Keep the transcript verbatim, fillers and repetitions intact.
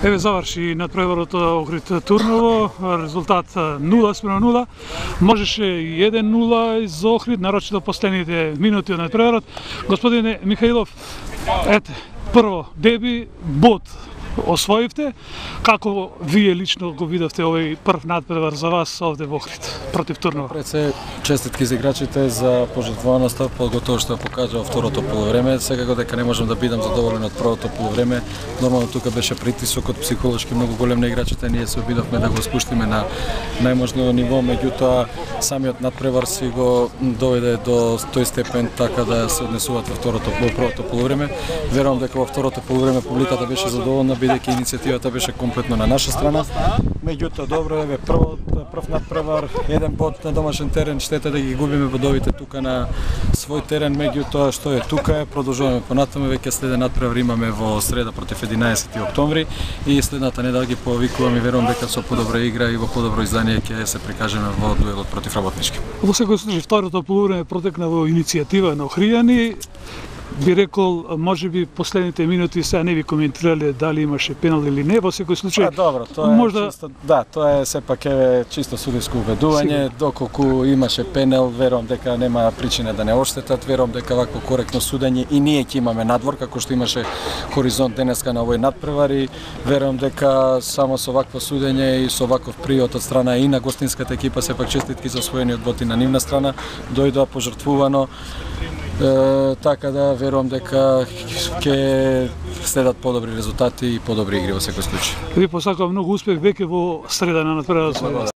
Еве заврши надпреварот Охрид Турново, резултат нула спрема нула. Можеше и еден нула за Охрид, нарочито последните минути од надпреварот. Господине Михаилов, ете, прво деби, бод освоивте. Како вие лично го видовте овој прв надпревар за вас овде во Охрид против Турново? Пред се честитки за играчите за пожртвованоста, поготово што покажа во второто полувреме. Секако дека не можам да бидам задоволен од првото полувреме. Нормално тука беше притисокот психолошки многу голем на играчите, ние се обидовме да го спуштиме на најможно ниво, меѓутоа самиот надпревар си го доведе до тој степен така да се однесуваат во второто во првото полувреме. Верувам дека во второто полувреме публиката беше задоволна, бидејќи иницијативата беше комплетно на наша страна. Меѓутоа добро е прво прв надпревар, еден бод на домашен терен, штета да ги губиме бодовите тука на свој терен, меѓутоа што е тука е, продолжуваме понатаму, веќе следен надпревар имаме во среда против единаесети октомври и следната недела ги повикувам и верувам дека со подобра игра и во подобро издание ќе се прикажеме во дуелот против Работнички. Во секој случај второто полувреме протекна во иницијатива на охријани. Би рекол, може би последните минути сега не ви коментирале дали имаше пенал или не, во секој случај. А, добро, тоа е можда... чисто, да, тоа е сепак е чисто судиско убедување, доколку имаше пенал, верувам дека нема причина да не оштетат, верувам дека вакво коректно судење и ние ќе имаме надвор како што имаше хоризонт денеска на овој надпревар и верувам дека само со вакво судење и со ваков пријот од страна и на гостинската екипа, сепак честитки за освоениот бод и на нивна страна, дојдоа пожртвувано. Е, така да верувам дека ќе следат подобри резултати и подобри игри во секој случај. Ви посакувам многу успех веќе во среда на надпреварот.